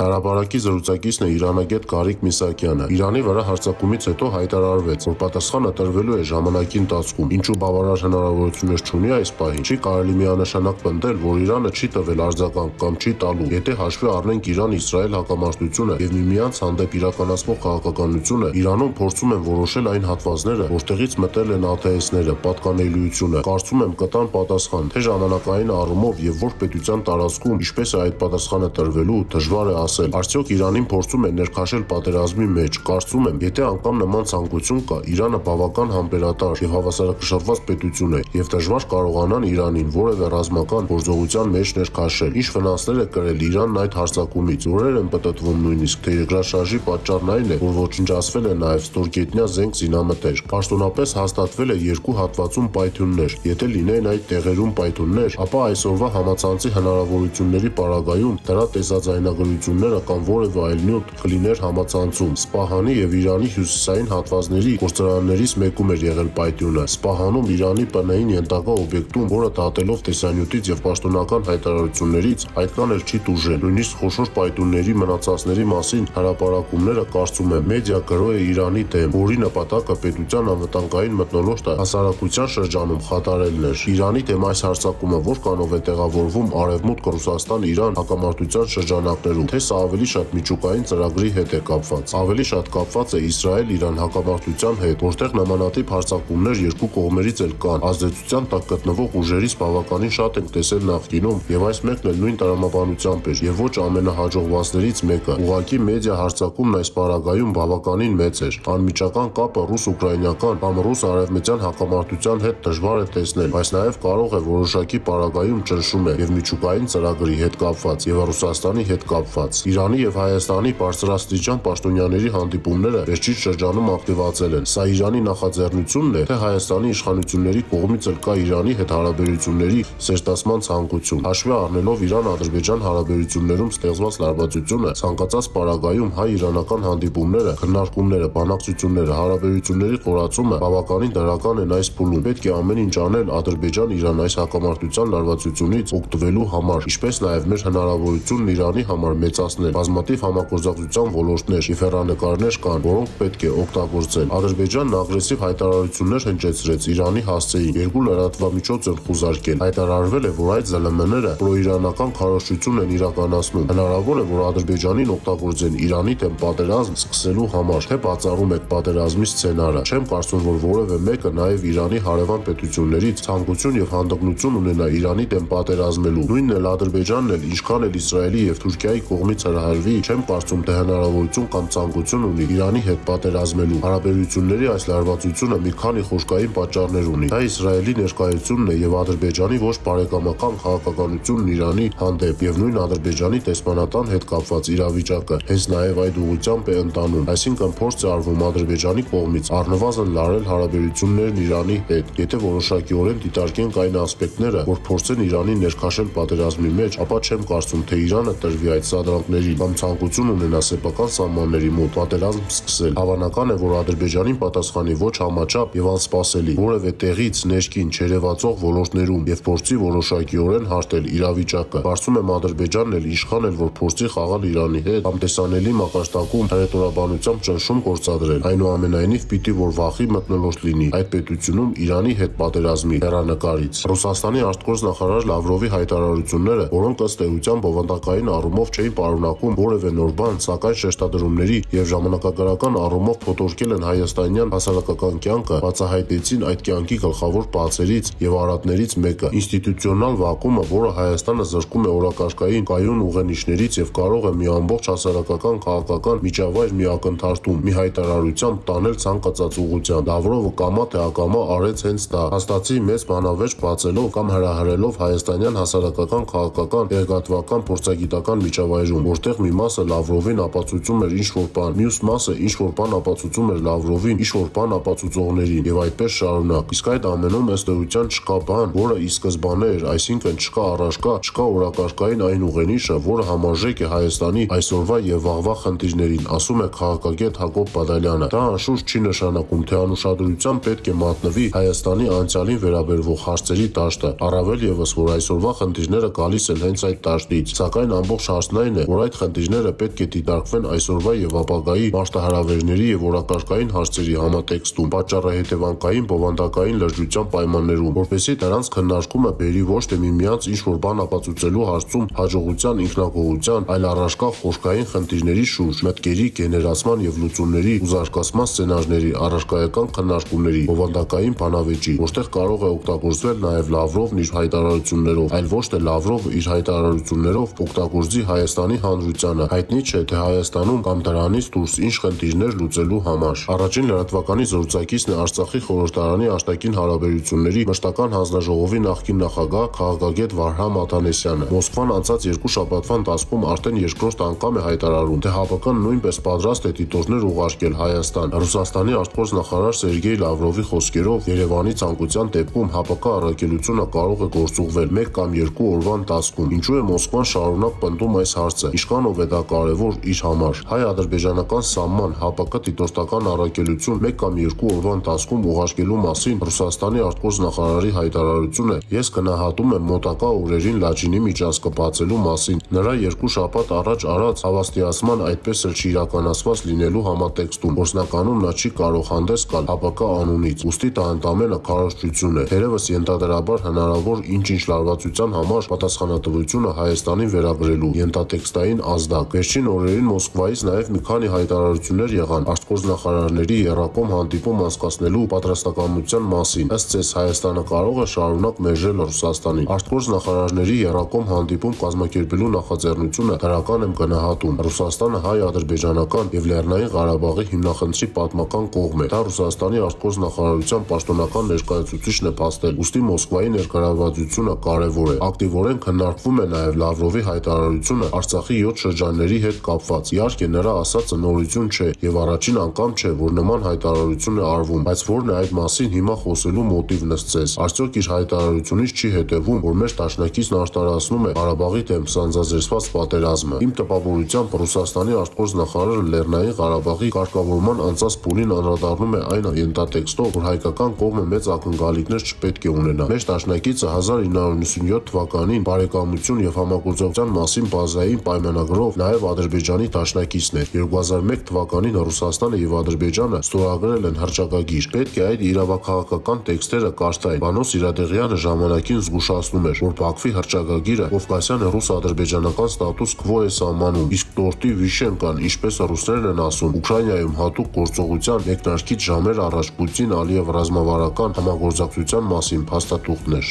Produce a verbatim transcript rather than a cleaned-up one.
Հրապարակի զրուցակիցն է իրանագետ Գարիկ Միսակյանը։ Իրանի վրա հարձակումից հետո հայտարարվեց, որ պատասխանը տրվելու է ժամանակի ընթացքում, ինչու բավարար հնարավորություններ չունի այս պահին։ Չի կարելի միանշանակ պնդել, որ Իրանը չի տվել արձագանք կամ չի տալու, եթե հաշվի առնենք Իրան-Իսրայել հակամարտությունը եւ միմյանց հանդեպ իրականացվող քաղաքականությունը, Իրանում փորձում են որոշել այն հատվածները, որտեղից մտել են աթեիստները, պատկանելիությունը։ Կարծում եմ կտան պատասխան, թե ժամանակային առումով եւ որ պետության տարածքում ինչպես է այդ պատասխանը տրվելու, դժվար է ասել։ Արդյոք Իրանին փորձում են ներքաշել պատերազմի մեջ։ Կարծում եմ, եթե անգամ նման ցանկություն կա, Իրանը բավական համբերատար եւ հավասարակշռված պետություն է եւ դժվար կարողանան Իրանին որևէ ռազմական գործողության մեջ ներքաշել։ Ինչ վնասներ է կրել Իրանն այդ հարձակումից։ Օրեր են պտտվում նույնիսկ, թե երկրաշարժի պատճառն այն է, որ ոչնչացվել է նաեւ ստորգետնյա զենք զինամթեր։ Պաշտոնապես հաստատվել է երկու հատվածում պայթյուններ։ Եթե լինեին այդ տեղերում պայթյուններ, ապա այսօրվա համացանցի հնարավորությունների պարագայում դրա տեսաձայնագրությունները կամ որևէ այլ նյութ կլիներ համացանցում։ Սպահանի եւ Իրանի հյուսիսային հատվածների գործարաններից մեկում էր եղել պայթյունը։ Սպահանում Իրանի ՊՆ-ին ենթակա օբյեկտում, որը դատելով տեսանյութից եւ պաշտոնական հայտարարություններից այդքան էլ չի տուժել։ Նույնիսկ խոշոր պայթյունների մնացածների մասին հրապարակումները, կարծում եմ, մեդիա գրոհ է Իրանի դեմ, որի նպատակը պետության անվտանգային մթնոլորտը հասարակության շրջանում խաթարելն էր։ Իրանի դեմ այս հարձակումը որքանով է տեղավորվում Արևմուտք Ռուսաստան-Իրան հակամարտության շրջանակներում, թե սա ավելի շատ միջուկային ծրագրի հետ է կապված, ավելի շատ կապված է Իսրայել-Իրան հակամարտության հետ, որտեղ նմանատիպ հարձակումներ երկու կողմերից էլ կան։ Ազդեցության տակ գտնվող ուժերից բավականին շատ ենք տեսել նախկինում, եւ այս մեկն էլ նույն տրամաբանությամբ էր, եւ ոչ ամենահաջողվածներից մեկը։ Ուղղակի մեդիա հարձակումն այս պարագայում բավականին մեծ էր։ Անմիջական կապը ռուս-ուկրաինական կամ ռուս-արևմտյան հակամարտության հետ դժվար է տեսնել, բայց նաեւ կարող է որոշակի պարագայում ճնշում է եւ միջուկային ծրագրի հետ կապված եւ Ռուսաստանի հետ կապված։ Իրանի եւ Հայաստանի բարձրաստիճան պաշտոնյաների հանդիպումները վերջին շրջանում ակտիվացել են։ Սա Իրանի նախաձեռնությունն է, թե Հայաստանի իշխանությունների կողմից էլ կա Իրանի հետ հարաբերությունների սերտացման ցանկություն։ Հաշվի առնելով Իրան-Ադրբեջան հարաբերություններում ստեղծված լարվածությունը, ցանկացած պարագայում հայ-իրանական հանդիպումները, քննարկումները, բանակցությունները, հարաբերությունների խորացումը բավականին դրական են այս փուլում։ Պետք է ամեն ինչ անել Ադրբեջան-Իրան այս հակամարտության լարվածությունից օգտվելու համար, ինչպես նաեւ մեր հնարավորությունն Իրանի համար մեծացնել։ Բազմաթիվ համագործակցության ոլորտներ եւ հեռանկարներ կան, որոնք պետք է օգտագործել։ Ադրբեջանն ագրեսիվ հայտարարություններ հնչեցրեց Իրանի հասցեին, երկու լրատվամիջոց են խուզարկել։ Հայտարարվել է, որ այդ ԶԼՄ-ները պրոիրանական քարոզչություն են իրականացնում։ Հնարավոր է, որ Ադրբեջանին օգտագործեն Իրանի դեմ պատերազմ սկսելու համար, թե բացառում եք պատերազմի սցենարը։ Չեմ կարծում, որ որևէ մեկը նաեւ Իրանի հարևան պետություններից ցանկություն եւ հանդգնություն ունենա Իրանի դեմ պատերազմելու։ Նույնն էլ Ադրբեջանն էլ, ինչքան էլ Իսրայելի եւ Թուրքիայի կողմից հրահրվի, չեմ կարծում, թե հնարավորություն կամ ցանկություն ունի Իրանի հետ պատերազմելու։ Հարաբերությունների այս լարվածությունը մի քանի խոշկային պատճառներ ունի։ Դա Իսրայելի ներկայությունն է եւ Ադրբեջանի ոչ բարեկամական քաղաքականությունն Իրանի հանդեպ եւ նույն Ադրբեջանի տեսփանատան հետ կապված իրավիճակը հենց նաեւ այդ ուղղությամբ է ընտանում։ Այսինքն փորձ է արվում Ադրբեջանի կողմից առնվազն լարել հարաբերություններն Իրանի հետ։ Եթե որոշակիորեն դիտարկենք այն ասպեկտները, որ փորձեն Իրանին ներքաշել պատերազմի մեջ, ապա չեմ կարծում, թե Իրանը տրվի այդ սադրանքներին կամ ցանկություն ունենա սեփական սահմանների մոտ պատերազմ սկսել։ Հավանական է, որ Ադրբեջանին պատասխանի ոչ համաչափ եւ անսպասելի, որևէ տեղից ներքին չերևացող ոլորտներում եւ փորձի որոշակիորեն հարտել իրավիճակը։ Կարծում եմ Ադրբեջանն էլ իշխան էլ որ փորձի խաղալ Իրանի հետ կամ տեսանելի մակարդակում հռետորաբանությամբ ճնշում գործադրել։ Այնուամենայնիվ պիտի որ վախի մթնոլորտ լինի այդ պետությունում Իրանի հետ պատերազմի հեռանկարից։ Ռուսաստանի արտգործ նախարար Լավրովի հայտարարությունները, որոնք ըստ էության բովանդակային առումով չէին պարունակում որևէ նոր բան, սակայն շեշտադրումների եւ ժամանակագրական առումով փոթորկել են հայաստանյան հասարակական կյանքը, բացահայտեցին այդ կյանքի գլխավոր բացերից եւ արատներից մեկը՝ ինստիտուցիոնալ վակումը, որը Հայաստանը զրկում է օրակարգային կայուն ուղենիշներից եւ կարող է մի ամբողջ հասարակական քաղաքական միջավայր մի ակնթարթում, մի հայտարարությամբ տանել ցանկացած ուղղությամբ։ Լավրովը կամա թե ակամա արեց հենց դա, հաստատի մեծ բանավեճ բացելով կամ հրահրելով հայաստանյան հասարակական քաղաքական տեղեկատվական փորձագիտական միջավայրում, որտեղ մի մասը Լավրովին ապացուցում էր ինչ-որ բան, մյուս մասը ինչ-որ բան ապացուցում էր Լավրովին ինչ-որ բան ապացուցողներին եւ այդպես շարունակ։ Իսկ այդ ամենում ըստ էության չկա բան, որը ի սկզբանե էր, այսինքն չկա առաջկա, չկա օրակարգային այն ուղենիշը, որը համարժեք է Հայաստանի այսօրվա եւ վաղվա խնդիրներին, ասում է քաղաքագետ Հակոբ Բադալյանը։ Դա անշուշտ չի նշանակում, թե անուշադրությամբ պետք է մատնվի Հայաստանի անցյալին վերաբերվող հարցերի դաշտը, առավել եւս, որ այսօրվա խնդիրները գալիս են հենց այդ դաշտից, սակայն ամբողջ հարցն այն է, որ այդ խնդիրները պետք է դիտարկվեն այսօրվա եւ ապագայի մարտահրավերների եւ օրակարգային հարցերի համատեքստում, պատճառը հետևանքային բովանդակային լրջության պայմաններում, որպեսզի դրանց քննարկումը բերի ոչ թե միմյանց ինչ-որ բան ապացուցելու հարցում հաջողության, ինքնագոհության, այլ առարկա խորքային խնդիրների շուրջ, մտքերի, գեներացման եւ լուծումների ու զարգացման սցենարների, առարկայական քննարկումների, բովանդակային բանավեճի, որտեղ կարող է օգտագործվել նաեւ Լավրովն իր հայտարարություններով, այլ ոչ թե Լավրովը իր հայտարարություններով օգտագործի Հայաստանի Հանրությանը, հայտնի չէ թե Հայաստանում կամ դրանից դուրս ինչ խնդիրներ լուծելու համար։ Առաջին լրատվականի զրուցակիցն է Արցախի խորհրդարանի արտաքին հարաբերությունների մշտական հանձնաժողովի նախկին նախագահ քաղաքագետ Վարհամ Աթանեսյանը։ Մոսկվան անցած երկու շաբաթվա ընթացքում արդեն երկրորդ անգամ է հայտարարում, թե ՀԱՊԿ-ն նույնպես պատրաստ է դիտորդներ ուղարկել Հայաստան։ Ռուսաստանի արտգործնախարար Սերգեյ Լավրովի խոսքերով Երևանի ցանկության դեպքում ՀԱՊԿ առաքելությունը կարող է գործուղվել մեկ կամ երկու օրվա ընթացքում։ Ինչու է Մոսկվան շարունակ պնդում այս հարցը, ինչքանով է դա կարևոր իր համար։ Հայ-ադրբեջանական սահման ՀԱՊԿ դիտորդական առաքելություն մեկ կամ երկու օրվա ընթացքում ուղարկելու մասին Ռուսաստանի արտգործնախարարի հայտարարությունը ես գնահատում եմ մոտակա օրերին Լաչինի միջանցքը բացելու մասին, նրա երկու շաբաթ առաջ արած հավաստիացման այդպես էլ չիրականացված լինելու համատեքստում, որսնականում նա չի կարող հանդես գալ ՀԱՊԿ անունից, ուստի դա ընդամենը քարոզչություն է, թերևս ենթադրաբար հնարավոր ինչ-ինչ լարվածության համար պատասխանատվությունը Հայաստանին վերագրելու ենթատեքստային ազդակ։ Վերջին օրերին Մոսկվայից նաև մի քանի հայտարարություններ եղան արտգործնախարարների եռակողմ հանդիպում անցկացնելու պատրաստակամության մասին։ Ըստ ցես Հայաստանը կարող է շարունակ մերժել Ռուսաստանին։ Արտգործնախարարների եռակողմ հանդիպում կազմակերպելու նախաձեռնությունը դրական եմ գնահատում։ Ռուսաստանը հայ-ադրբեջանական եւ Լեռնային Ղարաբաղի հիմնախնդրի պատմական կողմ է։ Դա Ռուսաստանի արտգործնախարարության պաշտոնական ներկայացուցիչն է փաստել, ուստի Մոսկվայի ներգրավվածությունը կարևոր է։ Ակտիվորեն քննարկվում է նաեւ Լավրովի հայտարարությունը Արցախի յոթ շրջանների հետ կապված։ Իհարկե նրա ասածը նորություն չէ եւ առաջին անգամ չէ, որ նման հայտարարություն է արվում, բայց որն է այդ մասին հիմա խոսելու մոտիվն ըստ ձեզ։ Արդյոք իր հայտարարությունից չի հետևում, որ մեր դաշնակիցն արտարացնում է Ղարաբաղի դեմ սանձազերծված պատերազմը։ Իմ տպավորությամբ Ռուսաստանի արտգործնախարարը Լեռնային Ղարաբաղի կարգավորման անցած փուլին անդրադառնում է այն ենթատեքստով, որ հայկական կողմը մեծ ակնկալիքներ չպետք է ունենա։ Մեր դաշնակիցը հազար ինը հարյուր նվսյոթ թվականին բարեկամություն եւ համագործակցության մասին բազային պայմանագրով նաեւ Ադրբեջանի դաշնակիցն էր։ երկու հազար մեկ թվականին Ռուսաստանը եւ Ադրբեջանը ստորագրել են հռչակագիր։ Պետք է այդ իրավաքաղաքական տեքստերը կարդային։ Վանոս Իրադեղյանը ժամանակին զգուշացնում էր, որ Բաքվի հռչակագիրը Կովկասյան ռուս-ադրբեջանական ստատուս քվո է սահմանում, իսկ տորտի վիշենկան, ինչպես ռուսներն են ասում, Ուկրաինայում հատուկ գործողության մեկնարկից ժամեր առաջ Պուտին-Ալիև ռազմավարական համագործակցության մասին փաստաթուղթներ։